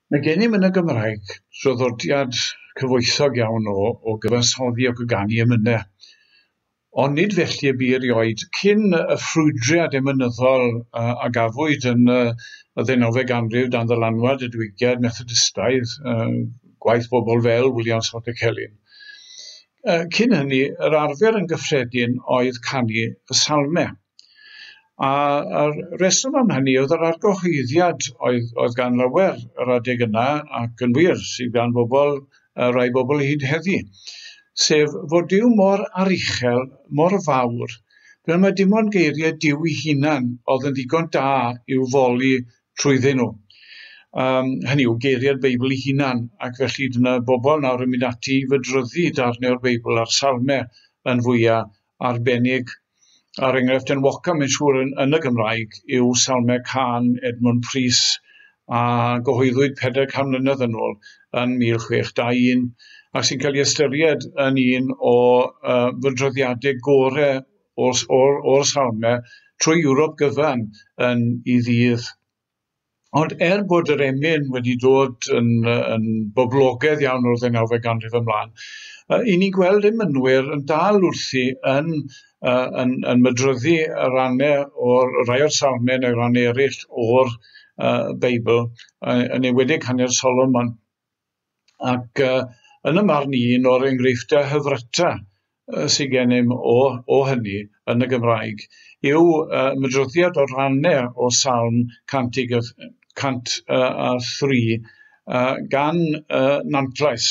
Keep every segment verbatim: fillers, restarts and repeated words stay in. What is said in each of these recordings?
Mae gennym yn y Gymraeg draddodiad cyfoethog iawn o, o gyfansoddi ac o ganu emynau. Ond nid felly y bu erioed cyn y ffrwydriad emynyddol uh, a gafwyd yn uh, y ddeunawfed ganrif dan ddylanwad y diwygiad Methodistaidd, uh, gwaith bobl fel William Salter Celyn. Uh, cyn hynny, yr arfer yn gyffredin oedd canu y salmau. A a'r reswm am hynny oedd yr argyhoeddiad oedd, oedd gan lawer yr adeg yna, ac yn wir sydd gan bobl, rai bobl hyd heddi, sef fod Duw mor aruchel, mor fawr, fel mae dim ond geiriau Duw ei hunan oedd yn ddigon da i'w foli trwyddyn nhw. Um, hynny yw geiriau'r Beibl ei hunan, ac felly dyna bobl nawr yn mynd ati i fydryddu darnau o'r Beibl a'r salmau yn fwyaf arbennig. A'r enghraifft enwoca, mae'n siŵr, yn, yn y Gymraeg yw Salmau Cân Edmund Prys, a gyhoeddwyd pedair can mlynedd yn ôl yn mil chwech dau un, ac sy'n cael ei ystyried yn un o uh, fydroddiadau gorau o'r, or, o'r salmau trwy Ewrop gyfan yn ei ddydd. Ond er bod yr emyn wedi dod yn, yn boblogaidd iawn o'r ddeunawfed ganrif ymlaen, uh, i ni'n gweld emynwyr yn dal wrthi yn, uh, yn, yn mydryddu y rannau o'r rai o'r salmau neu rannau eraill o'r uh, Beibl, uh, yn enwedig hanner Solomon. Ac uh, yn y marn i, un o'r enghreifftiau hyfryta uh, sydd gennym o, o hynny yn y Gymraeg yw uh, mydryddiad o rannau o Salm cant a thri uh, gan uh, Nantlais,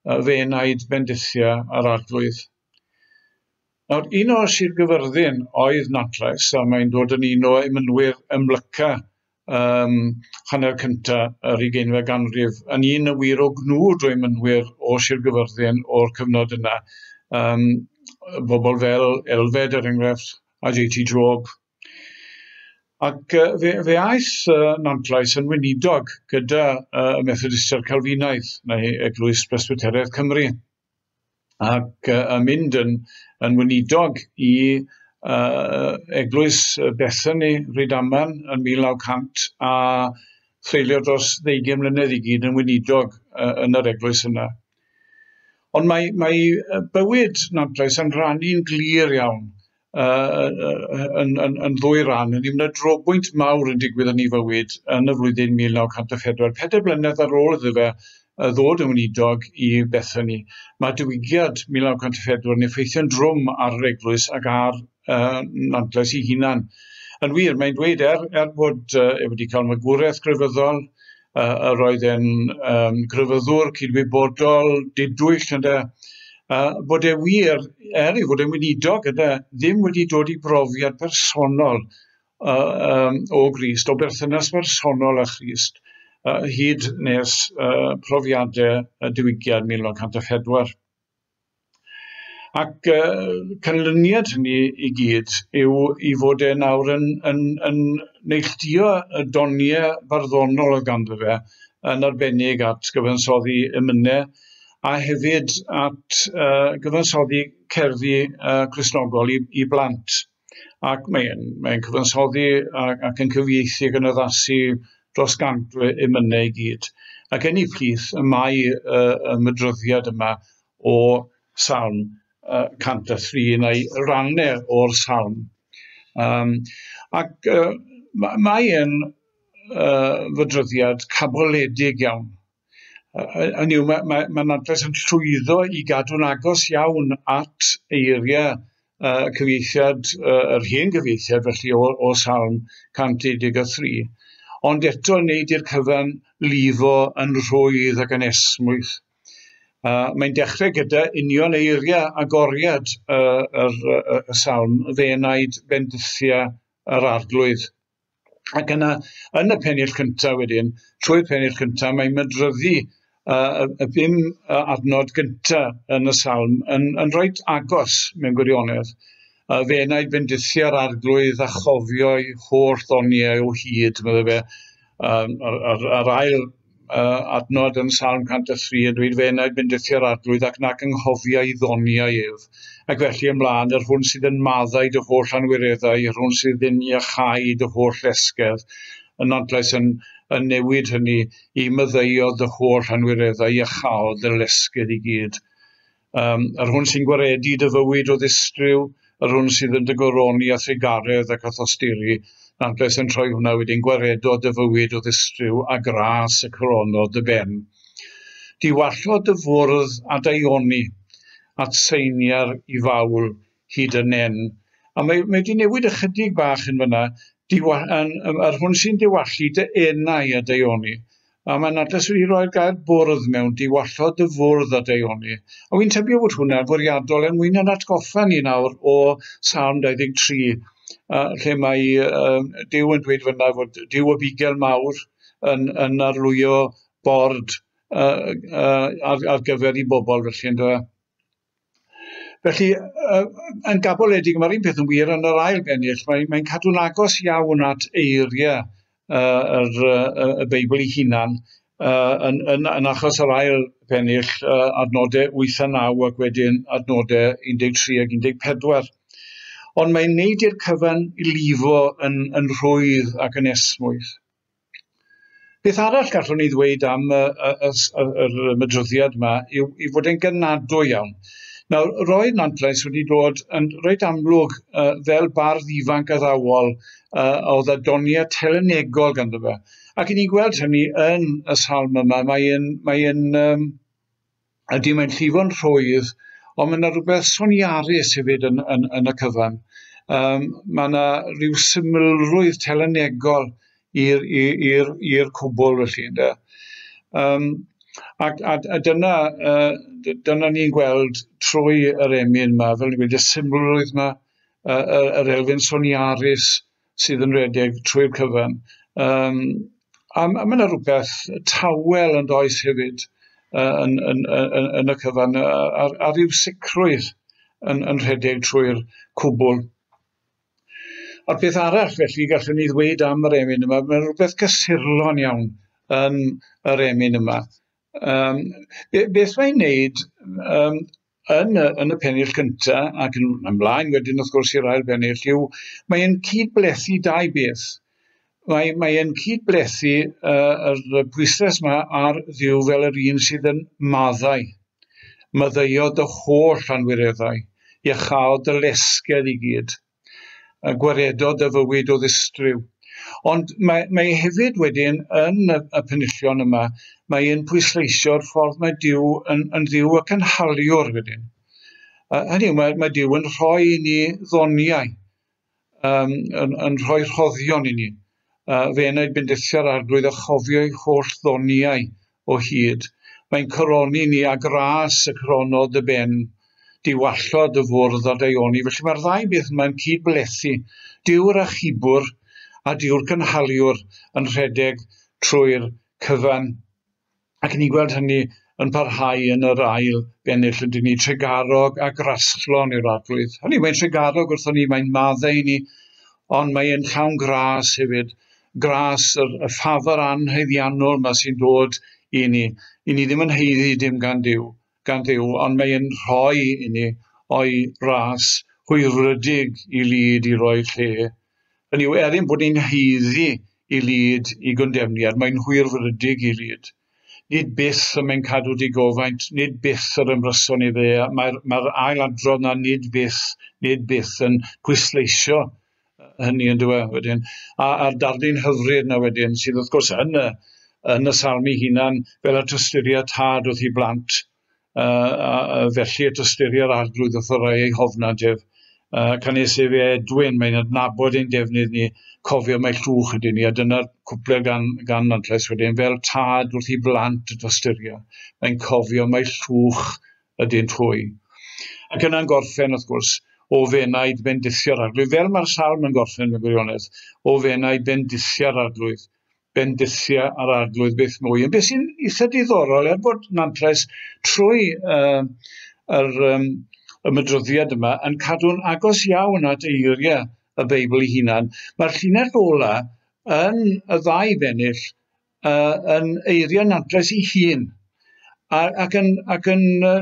uh, fe enaid bendithia ar Arglwydd. Nawr, un o Sir Gyfyrddin oedd Nantlais, a mae'n dod yn un o emynwyr ymlyca um, hanner cynta yr ugeinfed ganrif, yn un y wir o gnwd o emynwyr o Sir Gyfyrddin o'r cyfnod yna. Um, bobl fel Elfed, er enghraifft, a J T Job. Ac uh, fe, fe aeth uh, Nantlais yn weinidog gyda uh, y Methodistiaid Calfinaidd, neu Eglwys Presbyteraidd Cymru, ac uh, yn mynd yn, yn weinidog i uh, Eglwys Bethany, Rhydaman, yn mil naw cant, a threulio dros ddeugain mlynedd i gyd yn weinidog uh, yn yr eglwys yna. Ond mae, mae bywyd Nantlais yn rhannu'n glir iawn uh, yn, yn, yn ddwy ran. Yn ymwneud drobwynt mawr yn digwydd yn ei fywyd yn y flwyddyn mil naw cant a phedwar. Pedair blynedd ar ôl iddo fe ddod yn weinidog i Bethany, mae diwygiad mil naw cant a phedwar yn effeithio'n drwm ar yr eglwys ac ar uh, Nantlais ei hunan. Yn wir, mae'n dweud er, er bod uh, e wedi cael magwraeth grefyddol, uh, yr oedd e'n um, grefyddwr cydwybodol, didwyll, ynde, uh, bod e wir, er ei fod e'n weinidog, ynde, ddim wedi dod i brofiad personol uh, um, o Grist, o berthynas personol â Christ, uh, hyd nes uh, profiadau y diwygiad mil naw cant a phedwar. Ac uh, canlyniad hynny i gyd yw i fod e nawr yn, yn, yn neilltuo y doniau barddonol oedd ganddo fe, yn arbennig at gyfansoddi emynau, a hefyd at uh, gyfansoddi cerddi uh, Cristnogol i, i blant. Ac mae'n mae cyfansoddi ac, ac yn cyfieithu ac yn addasu dros gant o emynau i gyd. Ac yn ei plith y mae uh, y mydryddiad yma o Salm cant a thri, neu rannau o'r salm. Um, ac uh, mae e'n uh, fydryddiad caboledig iawn. Uh, hynny yw, mae, mae, mae Nantlais yn llwyddo i gadw'n agos iawn at eiriau uh, cyfieithiad, uh, yr hen gyfieithiad felly o, o Salm cant deuddeg a thri, ond eto yn neud i'r cyfan lifo yn rhwydd ac yn esmwyth. Uh, mae'n dechrau gyda union eiriau agoriad uh, yr, y, y salm, fe enaid bendithia yr Arglwydd. Ac yna, yn y pennill cyntaf wedyn, trwy'r pennill cyntaf, mae'n mydryddu uh, y bum adnod gyntaf yn y salm yn, yn reit agos mewn gwirionedd. Uh, fe enaid bendithia'r Arglwydd a chofio'i holl ddoniau o hyd, meddai fe, um, ar, ar, ar ail Uh, adnod yn Salm cant a thri yn dweud fe enaid bendithia'r Arglwydd ac nac anghofia ei ddoniau ef. Ac felly ymlaen, yr hwn sydd yn maddau dy holl anwireddau, yr hwn sydd yn iachau dy holl esgedd. Yn Nantlais yn, yn newid hynny i maddeuodd dy holl anwireddau, iachaodd dy lesgydd i gyd. Um, yr hwn sy'n gwaredu dy fywyd o ddistryw, yr hwn sydd yn dy goroni a thrugaredd ac a thosturi, Nantlais yn troi hwnna wedyn, gwaredodd dy fywyd o ddistryw a gras y coronodd dy ben. Diwallodd dy fwrdd a daioni at seiniar i fawl hyd y nen. A mae, mae wedi newid ychydig bach yn fyna, diwa, yn, yr hwn sy'n diwallu dy enau a daioni. A mae Nantlais wedi rhoi'r gair bwrdd mewn, diwallodd dy fwrdd a daioni. A wy'n tybio bod hwnna'n fwriadol er mwyn yn atgoffa ni nawr o Salm dau ddeg tri, uh, lle mae uh, Duw yn dweud fyna fod Duw y bugel mawr yn, yn arlwyo bord uh, uh, ar, ar gyfer i bobl felly, yndyfe. Felly, uh, yn gaboledig, mae'r un peth yn wir yn yr ail bennill, mae'n mae cadw'n agos iawn at eiriau uh, yr, uh, y Beibl ei hunan, uh, yn, yn, yn achos yr ail bennill, uh, adnodau wyth a naw ac wedyn adnodau un deg tri ac un deg pedwar. Ond mae'n neud i'r cyfan i lifo yn, yn rhwydd ac yn esmwyth. Beth arall gallwn ni ddweud am y, y, y, yr ymedryddiad yma yw i fod e'n gynadwy iawn. Nawr, roedd Nantlais wedi dod yn reit amlwg uh, fel bardd ifanc addawol uh, oedd â doniau telynegol ganddo fe. Ac i ni'n gweld hynny yn y salm yma, mae'n, mae'n, um, ydy mae'n llifo'n rhwydd, ond mae yna rhywbeth soniarus hefyd yn, yn, yn y cyfan. Um, mae yna rhyw symlrwydd telynegol i'r i'r i'r cwbl felly, ynde. Um, ac a, a dyna, uh, dyna ni'n gweld trwy yr emyn yma, fel ni'n gweud, y symlrwydd yma, uh, yr elfen soniarus sydd yn rhedeg trwy'r cyfan. Um, a, a mae yna rhywbeth tawel yn does hefyd uh, yn, yn, yn, yn y cyfan, a, a rhyw sicrwydd yn, yn rhedeg trwy'r cwbl. A'r peth arall felly gallwn ni ddweud am yr emyn yma, mae'n rhywbeth cysurlon iawn yn yr emyn yma. Um, beth mae'n wneud um, yn, y, yn y pennill cyntaf ac yn ymlaen wedyn wrth gwrs i'r ail bennill yw mae'n cydblethu dau beth. Mae, mae'n cydblethu uh, yr pwyslais yma ar Dduw fel yr un sydd yn maddau. Maddeuodd dy holl anwireddau, iachaodd dy lesgedd i gyd, a gwaredodd dy fywyd o ddistryw. Ond mae, mae hefyd wedyn yn y, y penillion yma, mae'n pwysleisio'r ffordd mae Duw yn, yn Dduw y cynhaliwr wedyn. Uh, hynny yw, mae, mae Duw yn rhoi i ni ddoniau, um, yn, yn rhoi rhoddion i ni. Uh, fe enaid bendithio'r Arglwydd a chofio ei holl ddoniau o hyd. Mae'n coroni ni a gras y coronodd y ben, diwallodd y fwrdd a daioni. Felly mae'r ddau beth yma'n cydblethu. Duw'r achubwr a Duw'r cynhaliwr yn rhedeg trwy'r cyfan. Ac ni'n gweld hynny yn parhau yn yr ail bennill, ydyn ni, trugarog a graslon yw'r Arglwydd. Hynny, mae'n trugarog wrthon ni, mae'n maddau i ni, ond mae'n llawn gras hefyd. Gras, yr, y ffafr anhaeddiannol yma sy'n dod i ni. I ni ddim yn haeddu dim gan Duw, gan Dduw, ond mae'n rhoi i ni o'i ras hwyrfrydig i lid i roi lle. Hynny yw, er ein bod ni'n haeddu i lid i gondemniad, mae'n hwyrfrydig i lid. Nid byth y mae'n cadw digofaint, nid byth yr ymryson i fe. Mae'r mae ailadrodd na nid byth, nid byth yn pwysleisio hynny yn dywe wedyn. A, a'r darlun hyfryd na wedyn, sydd wrth gwrs yn y, yn y salm ei hunan, fel y tosturia tad wrth i blant, uh, a, a felly y tosturia'r Arglwydd wrth y rhai ei hofnant ef. Uh, canys efe Edwin, mae'n adnabod ein defnydd ni, cofio mai llwch ydyn ni, a dyna'r cwpled gan, gan Nantlais wedyn, fel tad wrth i blant y tosturia, mae'n cofio mai llwch ydyn hwy. Ac yna'n gorffen, wrth gwrs, o fenaid bendithio'r Arglwydd, fel mae'r salm yn gorffen mewn gwirionedd, o fenaid bendithio'r Arglwydd, bendithia ar Arglwydd beth mwy. Ond beth sy'n eitha diddorol, er bod Nantlais trwy uh, yr, um, y mydroddiad yma yn cadw'n agos iawn at eiriau y Beibl ei hunan, mae'r llinell ola yn y ddau bennill uh, yn eiriau Nantlais ei hun, a, ac yn, ac yn uh,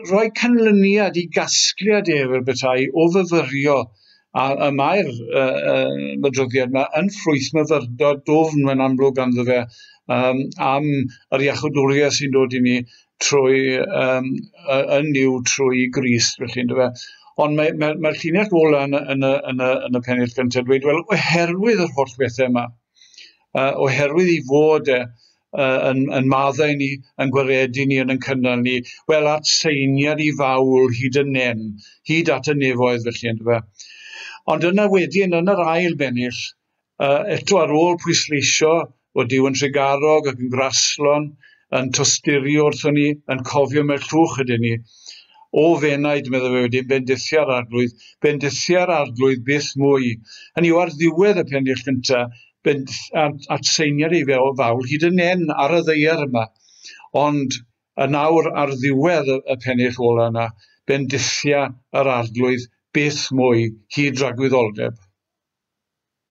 rhoi canlyniad i gasgliad ef fel petai o fyfyrio A, a mae'r uh, uh, adroddiad yma yn ffrwyth myfyrdod dwfn mae'n amlwg ganddo fe um, am yr iachawdwriaeth sy'n dod i ni trwy um, yn Nuw trwy Grist, felly, yndyfe. Ond mae'r mae, mae, mae llinell ola yn, yn, y, yn, y, yn y pennill gyntaf dweud, wel, oherwydd yr holl bethau yma, uh, oherwydd i fod e uh, yn, yn maddau ni, yn gwaredu ni, yn yn cynnal ni, wel, at seiniad i fawl hyd y nen, hyd at y nefoedd, felly, yndyfe. Ond yna wedyn, yn yr ail bennill, uh, eto ar ôl pwysleisio bod Duw yn trugarog ac yn graslon, yn tosturio wrthon ni, yn cofio mewn llwch ydyn ni. O f'enaid, meddai fe wedyn, bendithia'r Arglwydd, bendithia'r Arglwydd byth mwy. Hynny yw, ar ddiwedd y pennill gyntaf, at seiniad ei fel fawl hyd yn nen ar y ddaear yma. Ond yn awr ar ddiwedd y, y pennill ola yna, bendithia yr Arglwydd byth mwy hyd dragwyddoldeb.